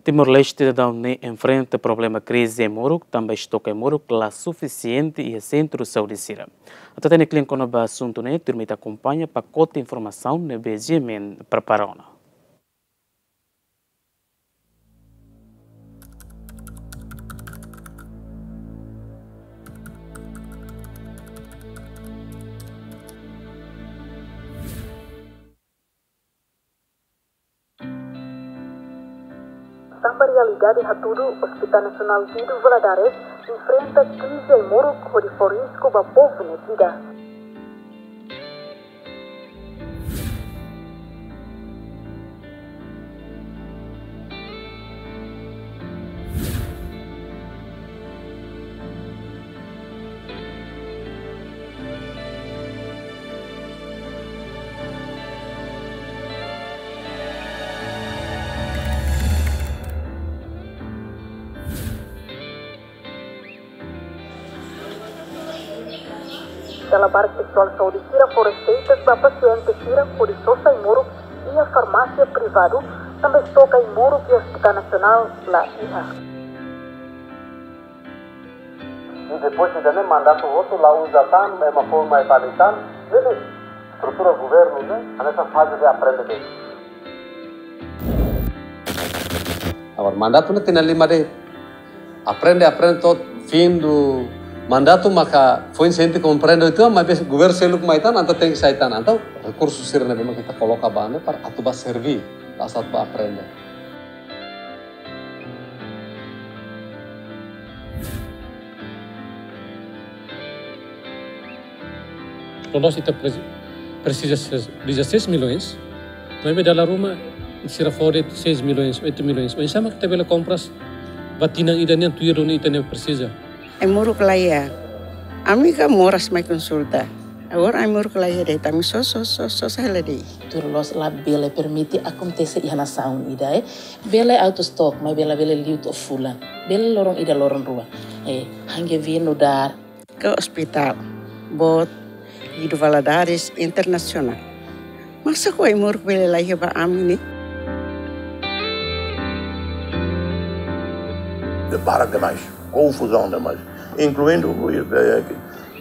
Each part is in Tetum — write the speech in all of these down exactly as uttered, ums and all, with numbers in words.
Timor-Leste daudaun ne'e enfrenta problema krize ai-moruk, tanba estoke ai-moruk la sufisiente iha sentru saúde sira. Atu hatene kle'an kona-ba asuntu ne'e, tuirmai ita akompaña pakote informasaun ne'ebé GMN prepara ona. Tanba realidade hatudu, Hospital Nasionál Guido Valadares enfrenta krize ai-moruk hodi fó risku ba povu nia vida. Dala barak pesoál saúde sira fó reseitas ba pasiente sira hodi sosa ai-moruk iha farmásia privadu, tanba estoke ai-moruk iha Hospital Nasionál la iha. I depois ida-ne'e mandatu hotu la uza tan, ema fó mai fali tan, jadi estrutura governu ne'e hanesan faze de aprende de'it. Agora mandatu ne'e tinan lima de'it. Aprende, aprende to'o fim do mandatu maka foin sente komprende itu, maibé governu seluk mai tan, entaun tenke sai tan, entaun rekursu sira ne'ebé mak ita koloka ba ne'e para atu ba serví, la sá atu ba aprende. Loos ita presi-, presiza ses-, dezasseis milhões, maibé dala ruma sira fó de'it seis milhões, oito milhões. Oinsá mak ita bele kompras ba tinan ida nian tuir duni ita-nia presiza. Ai-moruk la iha. Ami ka moras mai konsulta. Agora ai-moruk la iha de'it, ami sosa, sosa, sosa hela de'it. Tuir loos labele permite akontese iha nasaun ida, eh. Bele out of stock, maibé labele liu to'o fulan. Bele loron ida loron rua. Eh, hangge vino dar. Ke hospital, boot, Guido Valadares Internasionál. Masa ko ai-moruk bele la iha ba ami ne'e? Barak demais, konfuzaun demais, inkluindu, eh,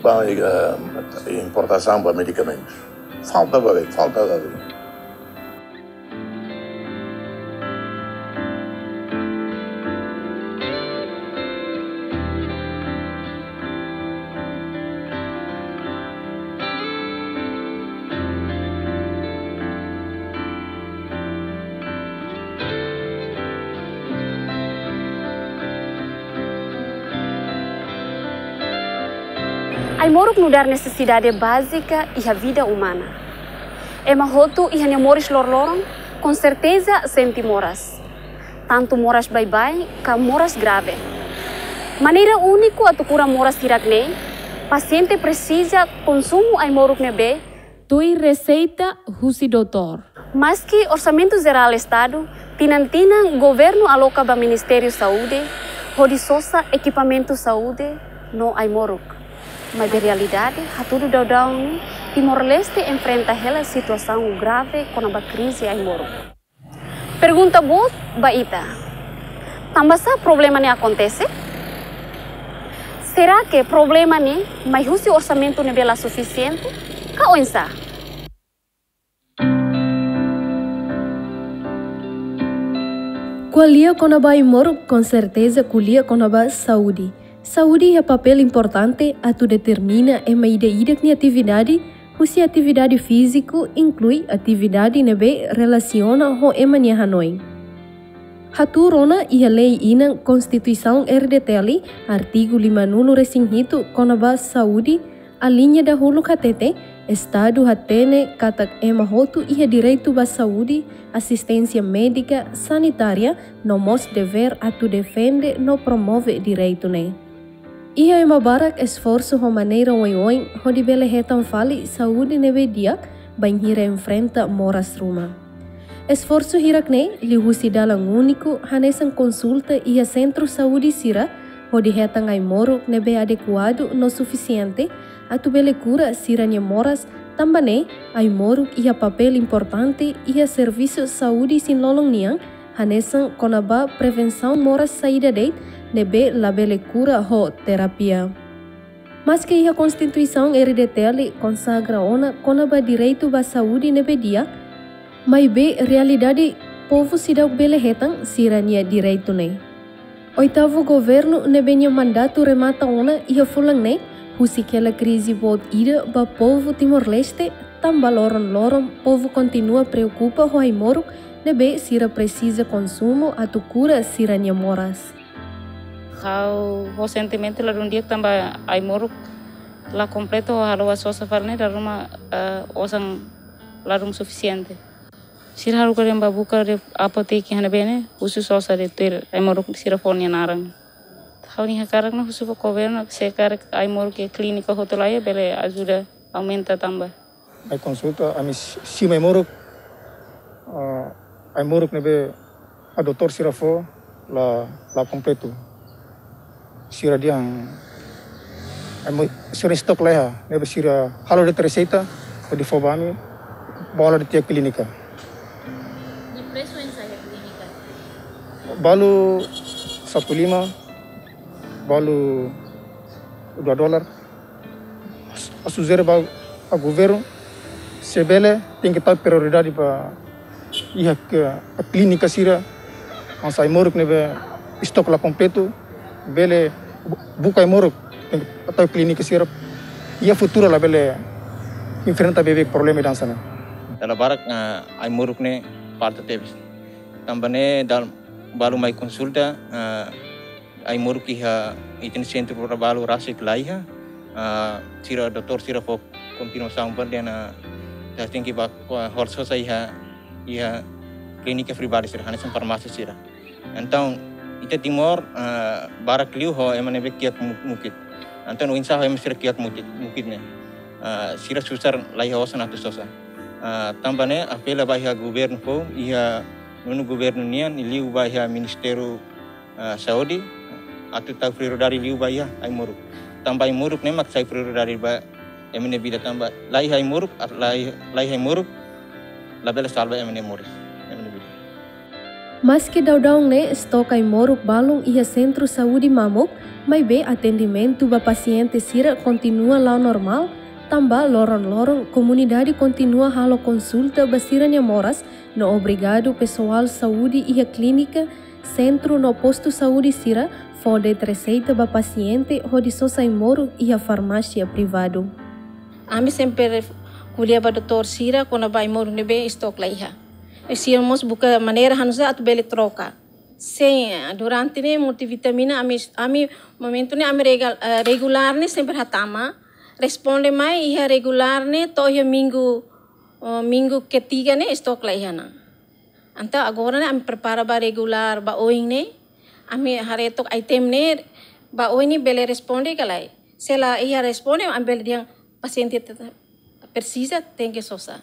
ba, eh, importasaun ba medikamentus. Falta ba, falta ba. Ai-moruk nu'udar nesesidade bázika iha vida umana. Ema hotu iha nia moris loroloron, konserteza sente moras. Tantu moras baibain, ka moras grave. Maneira úniku atu kura moras hirak-ne'e, pasiente presiza konsumu ai-moruk ne'ebé tuir reseita husi doutór. Maski Orsamentu Jerál Estadu, tinan-tinan governu aloka ba Ministériu Saúde, hodi sosa ekipamentu saúde no ai-moruk. Maibé realidade hatudu daudaun ne'e, Timor-Leste enfrenta hela situasaun grave kona-ba krize ai-moruk. Pergunta boot ba ita. Tanba sá problema ne'e akontese? Será que problema ne'e mai husi orsamentu ne'ebé la sufisiente? Ka oinsá? Ko'alia kona-ba ai-moruk, konserteza ko'alia kona-ba saúde. Saúde iha papél importante atu determina ema ida-idak nia atividade, husi atividade fíziku, inklui atividade ne'ebé relasiona ho ema nia hanoin. Hatuur ona iha lei inan Konstituisaun R D T L, artigu limanulu-resin-hitu kona-ba saúde, aliña dahuluk hatete, Estadu hatene katak ema hotu iha direitu ba saúde, asisténsia médika, sanitária, no mós devér atu defende no promove direitu ne'e. Iha ema barak esforsu ho maneira oioin hodi bele hetan fali saúde ne'ebé di'ak bainhira enfrenta moras ruma. Esforsu hirak-ne'e liuhusi dalan úniku hanesan konsulta iha sentru saúde sira hodi hetan ai-moruk ne'ebé adekuadu no sufisiente atu bele kura sira-nia moras, tanba ne'e ai-moruk iha papél importante iha servisu saúde isin-lolon nian, hanesan kona-ba prevensaun moras saida de'it ne'ebé labele kura ho terapia. Maske iha Konstituisaun R D T L konsagra ona kona-ba direitu ba saúde ne'ebé di'ak, maibé realidade povu seidauk bele hetan sira-nia direitu ne'e. Oitavu governu ne'ebé nia mandatu remata ona iha fulan ne'e, husik hela krize boot ida ba povu Timor-Leste, tanba loron-loron povu kontinua preokupa ho ai-moruk ne'ebé sira presiza konsumu atu kura sira-nia moras. Ha'u ho sentimentu ladún di'ak tanba ai-moruk la kompletu ho halo ba sosa fali ne'e dala ruma, eh, osan ladún sufisiente. Sira haruka dehan ba buka de'it apoteke iha ne'ebé ne'e, husu sosa de'it tuir ai-moruk sira fó nia naran. Ha'u-nia hakarak ne'e husu ba governu, se karik ai-moruk iha klínika hotu laiha, bele ajuda aumenta tanba. Mai konsulta, ami si-, simu ai-moruk, ah, ai-moruk ne'ebé ba doutór sira fó la, la kompletu. Sira dehan, emo-, sira stok laiha, ne'ebé sira halo de'it reseita, hodi fó ba ami, bola de'it iha klínika. Nia presu oinsá iha klínika? Balu satu lima, balu dua dolar. Ha'u sujere ba, ba governu, se bele, tenke tau prioridade ba iha ke, klínika sira, hanesan ai-moruk ne'ebé stok la kompletu, bele bu-, buka ai-moruk, tenke tau klínika sira, iha futuru labele enfrenta beibeik problema ida hanesan ne'e. Dala barak, eh, ai-moruk ne'e falta tebes. Tanba ne'e dala balu mai konsulta, eh, ai-moruk iha ita-nia sentru para balu rasik laiha, ah, sira doutór sira fó konfirmasaun ba dehan, ah, ita tenke ba, ah, hola sosa iha, iha klínika privadu sira, hanesan farmásia sira. Entaun, ita Timor, ah, barak liu ho ema ne'ebé kiak mu-, mukit. Entaun, oinsá ho ema sira kiak mukit, mukit ne'e. Ah, sira susar laiha osan atu sosa. Ah, tanba ne'e, apela ba iha governu foun, iha nonu governu nian, liu ba iha Ministériu ah, Saúde, atu tau prioridade liu ba iha ai-moruk. Tanba ai-moruk ne'e mak sai prioridade ba ema nia vida tanba laiha ai-moruk, ar-, lai-, laiha ai-moruk, labele salva ema nia moris, ema nia vida. Maske daudaun ne'e stok ai-moruk balun iha sentru saúde mamuk, maibé atendimentu ba pasiente sira kontinua la'o normál, tanba loron-loron komunidade kontinua halo konsulta ba sira-nia moras, no obrigadu pesoál saúde iha klínika, sentru no postu saúde sira fó de'it reseita ba pasiente hodi sosa ai-moruk iha farmásia privadu. Ami sempre ko'alia ba doutór sira kona-ba ai-moruk ne'ebé stok laiha. I sira mós buka maneira hanusa atu bele troka. Sin, durante ne'e multivitamina ami, ami momentu ne'e ami regal-, eh, regulár ne'e sempre hatama. Responde mai iha regulár ne'e to'o iha minggu, eh, minggu ketiga ne'e stok laiha ona. Entaun agora ne'e ami prepara ba regulár ba oin ne'e. Ami haree took item ne'e ba oin ne'e bele responde ka lae. Se la iha responde ami bele dehan pasiente tetap presiza tenke sosa.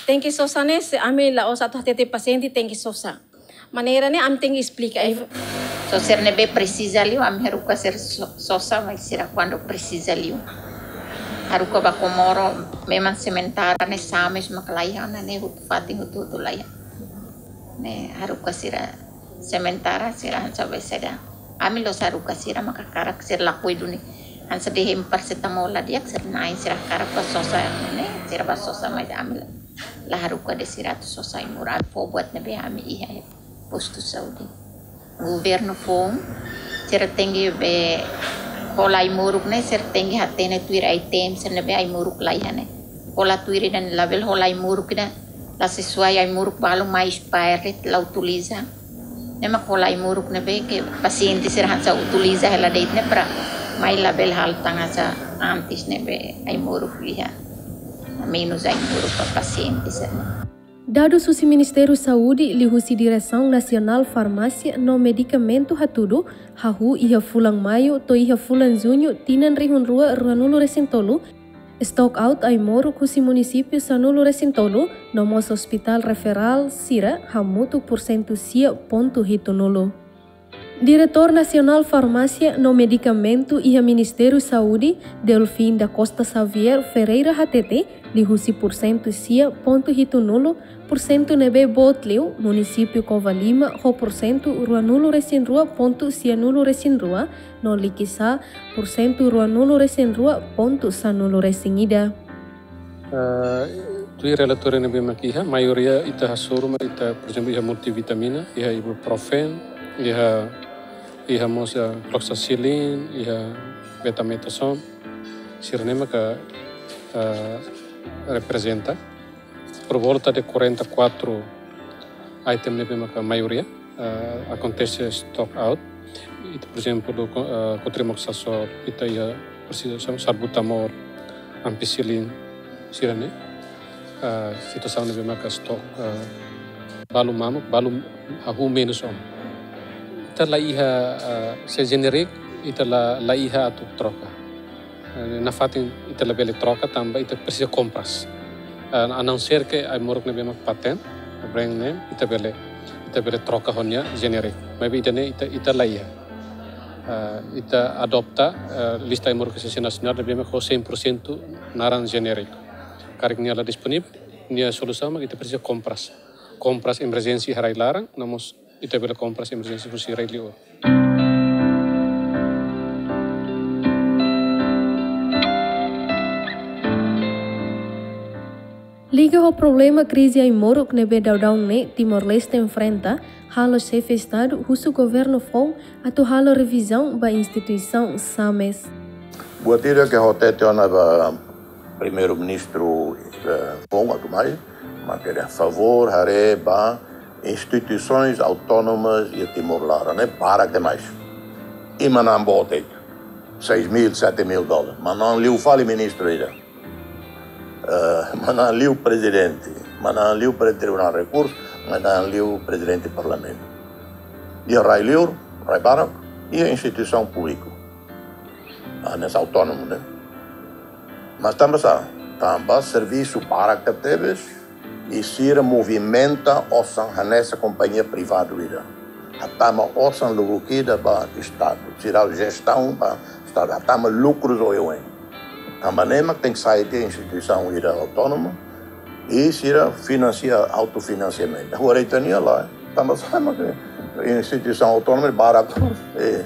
Tenke sosa ne'e se ami la'ós atu hatete pasiente tenke sosa. Maneira ne'e ami tenke esplika. Só sira ne'ebé presiza liu, ami haruka sira so-, sosa, mas sira kuandu presiza liu. Haruka ba Comoro, memang sementara ne'e sá mós mak laiha ona ne'e hotu-hotu fatin hotu-hotu laiha. Ne'e haruka sira sementara sira hanesan be seda. Ami la'ós haruka sira maka hakarak sira lakohi duni. Hanesan dehan parasetamol la di'ak sira na'in sira hakarak ba sosa ne'e, sira ba sosa mas ami la, la haruka de'it sira atu sosa ai-moruk fó buat ne'ebé ami iha iha postu saúde. Governu foun, sira tenke be hola ai-moruk ne'e, sira tenke hatene tuir item sira ne'ebé ai-moruk laiha ne'e. Hola tuir ida labele hola ai-moruk ida la sesuai, ai-moruk balun mai expire la utiliza. Ne'e mak hola ai-moruk ne'ebé ke pasiente sira hanesan utiliza hela de'it ne'e para mai labele halo tan hanesan antes ne'ebé ai-moruk iha menus ai-moruk ba pasiente sira. Dadus husi Ministériu Saúde liuhusi Diresaun Nasionál Farmásia no Medikamentu hatudu, hahú iha fulan Maiu to'o iha fulan Juñu tinan rihun rua ruanulu resin tolu, stock out ai-moruk husi munisípiu sanulu resin tolu, no mós ospitál referál sira hamutuk pursentu sia pontu hitunulu. Diretór Nasionál Farmásia no Medikamentu iha Ministériu Saúde, Delfim da Costa Xavier Ferreira hatete, liuhusi pursentu sia pontu hitunulu, pursentu ne'ebé boot liu, munisípiu Covalima ho pursentu ruanulu-resin-rua pontu sianulu-resin-rua, no Liquiçá pursentu ruanulu-resin-rua pontu sanulu-resin-ida. Ah, tuir relatóriu ne'ebé mak iha, maioria ita hasoru mak ita, por ezemplu, iha multivitamina, iha ibuprofen, iha, iha mós, ah, cloxacillin, iha betamethasone, sira-ne'e maka, ah, reprezenta por volta de quarenta e quatro item ne'ebé maka maioria, ah, akontese stock out. Ita, por ezemplu, co-, ah, cotrimoxazol, ita iha presiza salbutamol, ampicillin, sira-ne'e. Ah, situasaun ne'ebé maka stock, ah, balu mamuk, balu hahú menus ona. Ita la iha, ah, se generic, ita la, la iha atu troka. Eh, nafatin ita labele troka tanba ita presiza kompras. Eh, a não ser que ai-moruk ne'ebé mak patent, brand name, ita bele, ita bele troka ho nia generic. Maibé ida-ne'e ita, ita la iha. Eh, ita adota, eh, lista ai-moruk esensiál nasionál ne'ebé mak ho cem por cento naran generic. Karik nia la disponível, nia solusaun mak ita presiza kompras. Kompras emerjénsia iha rai-laran, no mós ita bele kompras emerjénsia husi rai-liur. Liga ho problema krize ai-moruk ne'ebé daudaun ne'e Timor-Leste enfrenta, halo Xefe Estadu husu governu foun atu halo revizaun ba instituisaun SAMES. Buat ida ke ha'u hatete ona ba Primeiru-Ministru, eh, foun atu mai, mak ita favór haree ba instituisoens autónomas iha Timor laran ne'e barak demais. I manán boot, seis mil, sete mil dólares. Manán liu fali ministru ida. Eh, manán liu prezidente, manán liu prezidente Tribunál Rekursu, manán liu prezidente Parlamentu. Iha rai-liur, rai-barak, iha instituisaun públiku. Ah, ne'e autónomu, ne'e. Mas tanba sá, tanba servisu barak tebes, i sira movimenta osan hanesan kompañia privadu ida. Hatama osan lubuk ida ba Estadu. Sira jestaun ba Estadu. Hatama lukrus oioin. Tanba ne'e mak tenke sai tiha instituisaun ida autónoma. I sira finansia, autofinansiamentu. Agora ita-nia lae. Tanba sá mak instituisaun autónoma barak. Eh,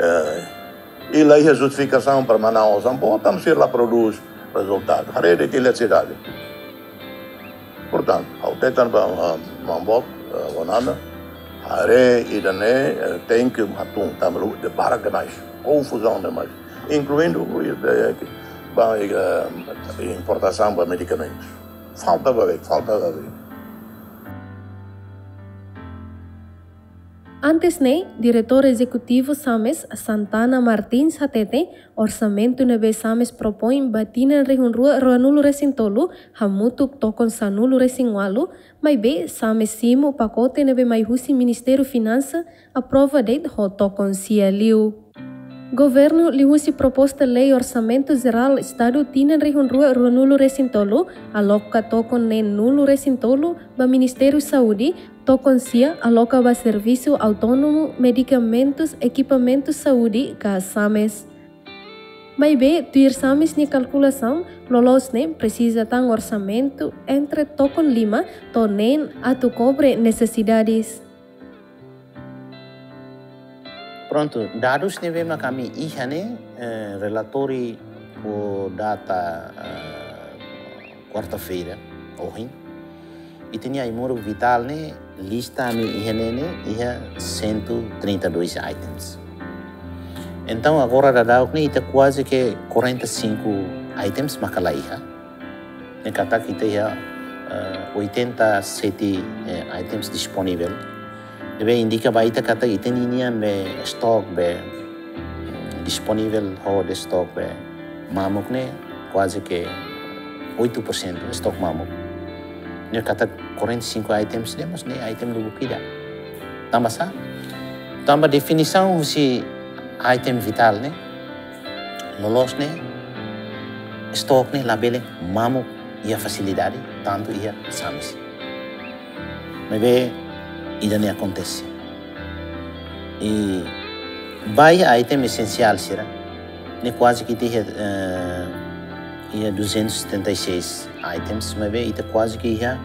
eh, i la iha justifikasaun para manán osan boot, tanba sira la prodús rezultadu. Haree de'it eletrisidade. Portantu, ha'u hateten ba, ah, maun boot, eh, Bonana, haree ida-ne'e, eh, tenke hatún, tanba la'ós, barak demais, konfuzaun demais, inkluindu, eh, ba, eh, importasaun ba medikamentus. Falta ba, falta ba. Antes ne'e, Diretór Ezekutivu SAMES, Santana Martins, hatete, orsamentu ne'ebé SAMES propoin ba tinan rihun rua ruanulu-resin-tolu, hamutuk tokon sanulu-resin-ualu, maibé SAMES simu pakote ne'ebé mai husi Ministériu Finansa, aprova de'it ho tokon sia liu. Governu liuhusi proposta lei Orsamentu Jerál Estadu tinan rihun rua ruanulu-resin-tolu, aloka tokon neenulu-resin-tolu ba Ministériu Saúde, tokon sia aloka ba Servisu Autónomu Medikamentus Ekipamentus Saúde ka SAMES. Maibé, tuir SAMES nia kalkulasaun, loloos ne'e presiza tan orsamentu entre tokon lima to'o neen atu kobre nesesidades. Prontu, dadus ne'ebé mak ami iha ne'e, eh, relatóriu ho data, eh, kuarta-feira, ohin. Ita-nia ai-moruk vitál ne'e, lista ami iha ne'e ne'e, iha cento e trinta e dois items. Entaun, agora daudaun ne'e, ita kuaze ke quarenta e cinco items maka la iha. Ne'e katak ita iha, eh, oitenta e sete, eh, items disponível. Ne'ebé indika ba ita katak ita ninian be stok be, mm, disponível hodi stok be mamuk ne'e kuaze ke oito por cento stok mamuk. Ne'e katak quarenta e cinco items ne'e mós ne'e item lubuk ida. Tanba sá? Tanba definisaun husi item vitál ne'e, loloos ne'e, stok ne'e labele mamuk iha fasilidade, tantu iha SAMES. Maibé, ida-ne'e akontese. I ba item esensiál sira, ne'e kuaze ke ita iha, eh, iha duzentos e setenta e seis items, maibé ita kuaze ke iha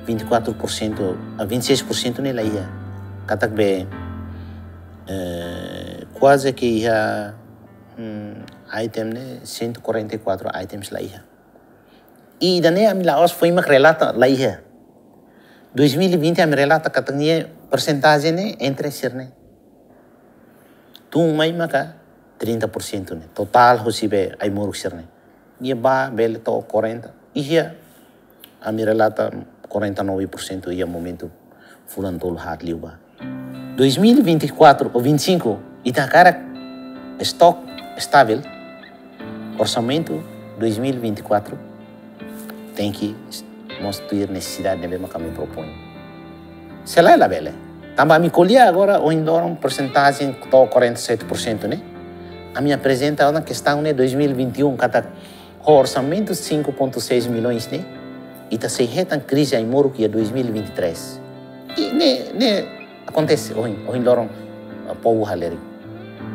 vinte e quatro por cento, a vinte e seis por cento ne'e la iha. Katak be, eh, kuaze ke iha, hmm, item ne'e cento e quarenta e quatro items la iha. I ida-ne'e ami la'ós foin mak relata la iha. Dois mil e vinte ami relata katak nia persentajen ne'e entre sira-ne'e. Tun mai maka trinta por cento ne'e. Totál husi be ai-moruk sira-ne'e. Nia ba bele to'o quarenta. Iha ami relata quarenta e nove por cento iha momentu fulan tolu haat liubá. Dois mil e vinte e quatro ou vinte e cinco, ita hakarak estoque estável, orsamentu dois mil e vinte e quatro tenke mós tuir nesesidade ne'ebé mak ami propoin. Se lae labele. Tanba ami ko'alia agora, ohin loron persentajen to'o quarenta e sete por cento ne'e. Ami aprezenta ona kestaun ne'e dois mil e vinte e um katak ho orsamentu cinco ponto seis milhões ne'e, ita sei hetan krize ai-moruk iha dois mil e vinte e três. I ne'e, ne'e akontese ohin, ohin loron, ah, povu halerik,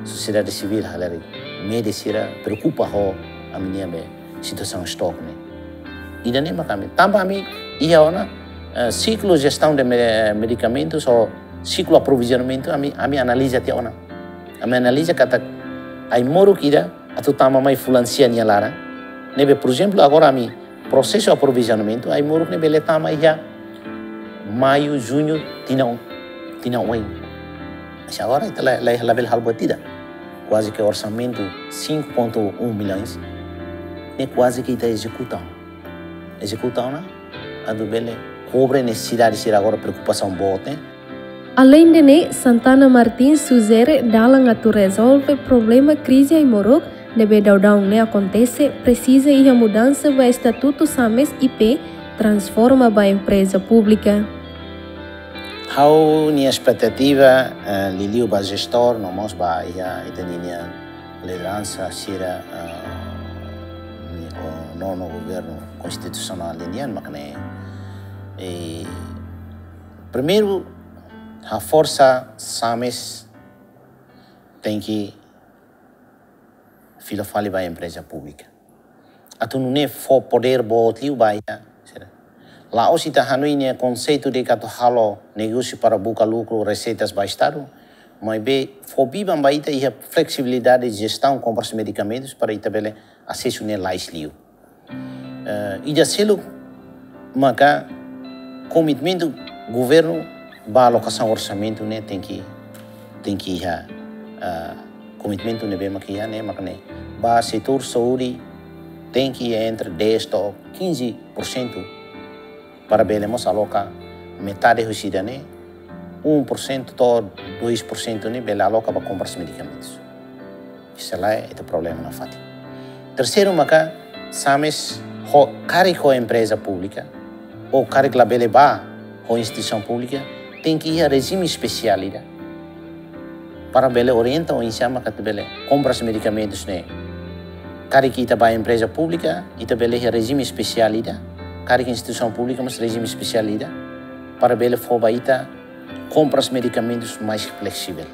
sosiedade sivíl halerik, média sira preokupa ho ami-nia be situasaun estoque ne'e. Ida-ne'e mak ami, tanba ami iha ona, eh, siklu jestaun de me-, medikamentus ou siklu aprovizionamentu ami, ami analiza tiha ona. Ami analiza katak ai-moruk ida atu tama mai fulan sia nia laran. Ne'ebé, por ezemplu, agora ami prosesu aprovizionamentu, ai-moruk ne'e bele tama iha maiu, juñu, tinan, tinan oin. Mas agora ita la, la, labele halo buat ida. Kuaze ke orsamentu cinco ponto um milhões ne'e kuaze ke ita ezekuta. Ezekuta ona atu bele kobre nesesidade sira agora preokupasaun boot ne'e. Aleinde ne'e, Santana Martins sujere dalan atu rezolve problema krize ai-moruk ne'ebé daudaun ne'e akontese, presiza iha mudansa ba estatutu SAMES I P, transforma ba empreza públika. Ha'u-nia espetativa, eh, liuliu ba jestór, no mós ba iha ita-nia lideransa sira, eh, no, no governu konstitusionál nian, mak ne'e, eh, primeiru, haforsa SAMES tenke fila fali ba empreza públika. Atu nune'e fó podér boot liu ba iha. La'ós ita hanoin ne'e konseitu de atu halo negósiu para buka lukru, reseitas ba Estadu, maibé fó biban ba ita iha fleksibilidade jestaun kompras medikamentus para ita bele asesu ne'e lais liu. Eh, ida seluk maka komitmentu governu ba alokasaun orsamentu ne'e tenke, tenke iha, eh, komitmentu ne'ebé maka iha ne'e, maka ne'e. Ba setór saúde tenke iha entre dez to'o quinze por cento para bele mós aloka metade husi ida-ne'e, um por cento to'o dois por cento ne'e bele aloka ba kompras medikamentus. Se lae, ita problema nafatin. Terseiru maka, SAMES ho, karik ho empreza públika, ou karik labele ba ho instituisaun públika, tenke iha rejime espesiál ida para bele orienta oinsá maka atu bele kompras medikamentus ne'e. Karik ita ba empreza públika, ita bele iha rejime espesiál ida, karik instituisaun públika mós rejime espesiál ida, para bele fó ba ita kompras medikamentus mais fleksivel.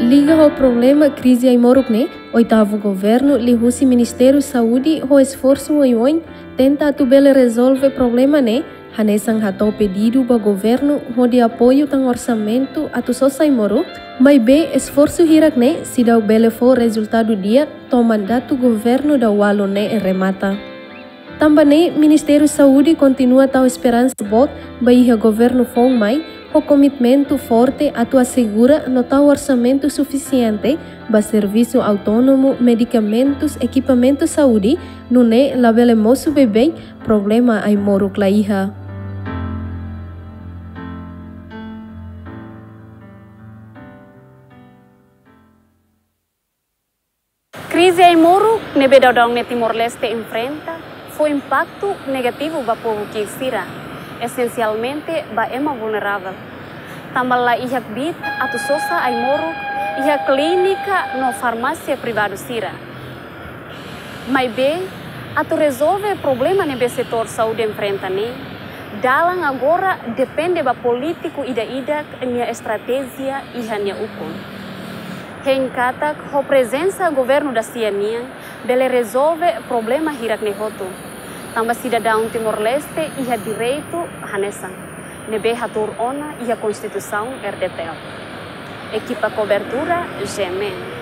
Liga ho problema krize ai-moruk ne'e, oitavu governu liuhusi Ministériu Saúde ho esforsu oioin tenta atu bele rezolve problema ne'e, hanesan hato'o pedidu ba governu hodi apoiu tan orsamentu atu sosa ai-moruk, maibé esforsu hirak ne'e seidauk bele fó rezultadu di'ak to'o mandatu governu daudaun ne'e remata. Tanba ne'e, Ministériu Saúde kontinua tau esperansa boot ba iha governu foun mai, ho komitmentu forte atu asegura no tau orsamentu sufisiente ba servisu autónomu, medikamentus, ekipamentu saúde, nune'e labele mosu beibeik problema ai-moruk la iha. Krize ai-moruk ne'ebé daudaun ne'e Timor-Leste enfrenta fó impaktu negativu ba povu ki'ik sira, esensialmente ba ema vulneravel. Tanba la iha kbiit atu sosa ai-moruk iha klínika no farmásia privadu sira. Maibé, Atu rezolve problema ne'ebé setór saúde enfrenta ne'e, dalan agora depende ba polítiku ida-idak nia estratéjia iha nia ukun. Hein katak ho prezensa governu da-sia nian bele rezolve problema hirak ne'e hotu, tanba sidadaun Timor-Leste iha direitu hanesan, ne'ebé hatuur ona iha Konstituisaun R D T L. Ekipa kobertura, G M N.